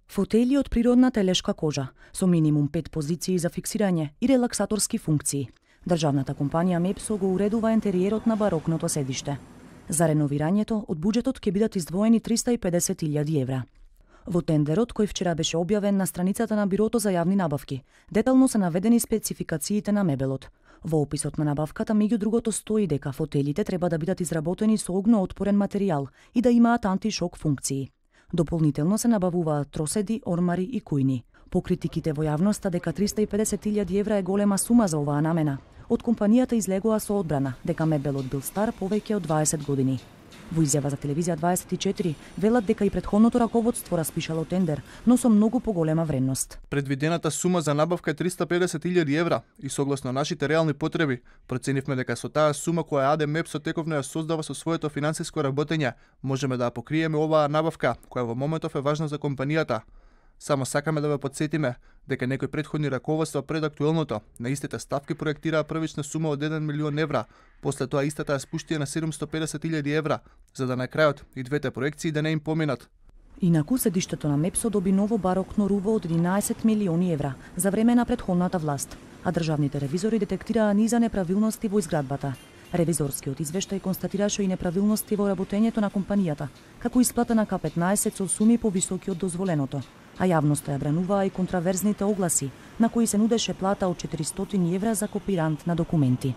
Фотели од природна телешка кожа, со минимум 5 позиции за фиксирање и релаксаторски функции. Државната компанија Мепсо го уредува интериерот на барокното седиште. За реновирањето од буџетот ќе бидат издвоени 350.000 евра. Во тендерот, кој вчера беше објавен на страницата на Бирото за јавни набавки, детално се наведени спецификациите на мебелот. Во описот на набавката, меѓу другото, стои дека фотелите треба да бидат изработени со огноотпорен материјал и да имаат антишок функции. Дополнително се набавуваат троседи, ормари и кујни. По критиките во јавноста дека 350.000 евра е голема сума за оваа намена, од компанијата излегоа со одбрана дека мебелот бил стар повеќе од 20 години. Во изјава за телевизија 24 велат дека и претходното раководство распишало тендер, но со многу поголема вредност. Предвидената сума за набавка е 350.000 евра и согласно нашите реални потреби, проценивме дека со таа сума која АД Мепсо тековно ја создава со своето финансиско работење, можеме да ја покриеме оваа набавка, која во моментов е важна за компанијата. Само сакаме да ве потсетиме дека некои претходни раководства пред актуелното на истите ставки проектираа првична сума од 1 милион евра, после тоа истата ја спуштија на 750.000 евра, за да на крајот и двете проекции да не им поминат. Инаку седиштето на Мепсо доби ново барокно руво од 11 милиони евра за време на претходната власт, а државните ревизори детектираа низа неправилности во изградбата. Ревизорскиот извештај констатираше и неправилности во работењето на компанијата, како исплата на К15 со суми повисоки од дозволеното, а јавноста ја брануваа и контраверзните огласи, на кои се нудеше плата од 400 евра за копирант на документи.